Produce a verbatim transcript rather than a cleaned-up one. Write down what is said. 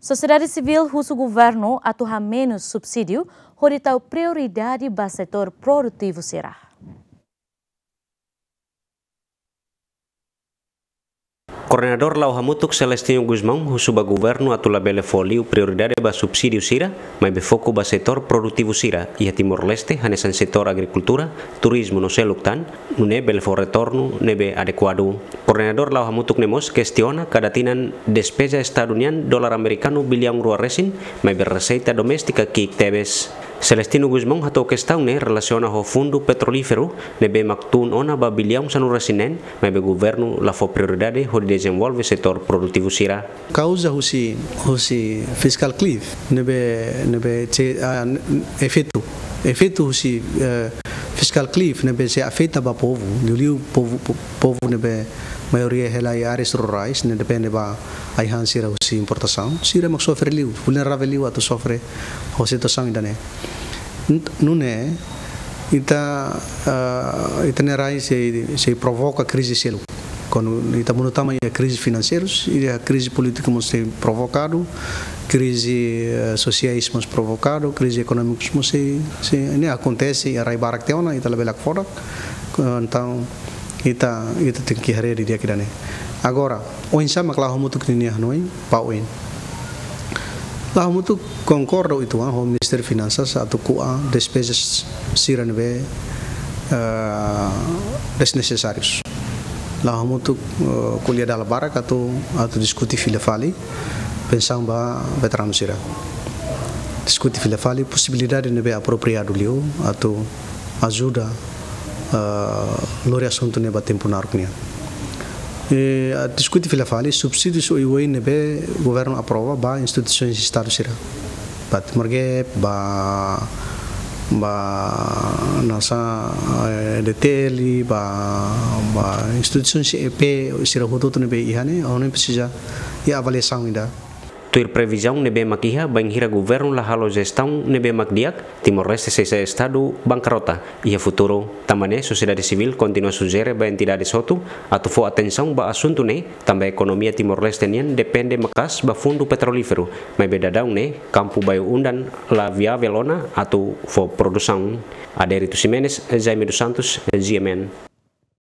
Sosiedade sivíl husu governu atu hamenus subsídiu, hodi tau prioridade ba setór produtivu sira. Koordenadór La'o Hamutuk Celestino Gusmão husu ba governu atu labele fó liu prioridade ba subsídiu sira, maibé foku ba setór produtivu sira iha Timor-Leste, hanesan setór agrikultura, turizmu no seluk tan, nune'e bele fó retornu ne'ebé adekuadu. Koordenadór La'o Hamutuk ne'e mós kestiona kada tinan despeza Estadu nian dolar amerikanu biliaun rua resin, maibé reseita doméstika ki'ik tebes. Celestino Gusmão hato'o kestaun ne'e relasiona ho fundu petrolíferu ne'ebé mak tun ona ba biliaun sanulu resin neen, maibé governu la fó prioridade hodi dezenvolve setór produtivu sira. Kauza husi, husi fiscal cliff ne'ebé, ne'ebé sei, ah, efeitu, efeitu husi, eh, fiscal cliff ne'ebé sei afeta ba povu, liuliu povu, po-, povu ne'ebé maioria hela iha áreas rurais, ne'e depende ba ai-han sira husi importasaun, sira mak sofre liu, vulneravel liu atu sofre ho situasaun ida-ne'e. Ent-, nune'e, ita, ah, ita-nia rai sei, sei provoka krize seluk. Kuandu ita monu tama iha krize finanseirus, iha krize polítiku mós sei provokadu, krize, eh, sosiais mós provokadu, krize ekonómikus mós sei, sei, ne'e akontese iha rai barak tiha ona, ita labele hakfodak. Entaun, ita, ita tenke haree didi'ak ida-ne'e. Agora, oinsá mak La'o Hamutuk ninia hanoin ba oin? La'o Hamutuk konkorda uitoan ho Ministériu Finansas atu ko'a despezas sira ne'ebé, eh, desnesesárius. La'o Hamutuk, eh, ko'alia dala barak atu, atu diskute fila fali pensaun ba veteranu sira. Diskute fila fali posibilidade ne'ebé apropriadu liu atu ajuda, ah, lori asuntu ne'e ba tempu naruk nian. E, ah, diskute fila fali subsídius oioin ne'ebé governu aprova ba instituisoens Estadu sira. Ba Timor Gap, ba, ba nasa, eh, D T L, ba, ba instituisoens E P sira hotu-hotu ne'ebé iha ne'e, ha'u hanoin presiza iha avaliasaun ida. Tuir previzaun ne'ebé mak iha, bainhira governu la halo jestaun ne'ebé mak di'ak, Timor-Leste sei sai estadu bankarrota iha futuru. Tanba ne'e, sosiedade sivíl kontinua sujere ba entidades hotu atu fó atensaun ba asuntu ne'e, tanba ekonomia Timor-Leste nian depende maka'as ba fundu petrolíferu, maibé daudaun ne'e kampu bayu-undan la viavel ona atu fó produsaun. Adérito Ximenes, Jaime dos Santos, G M N.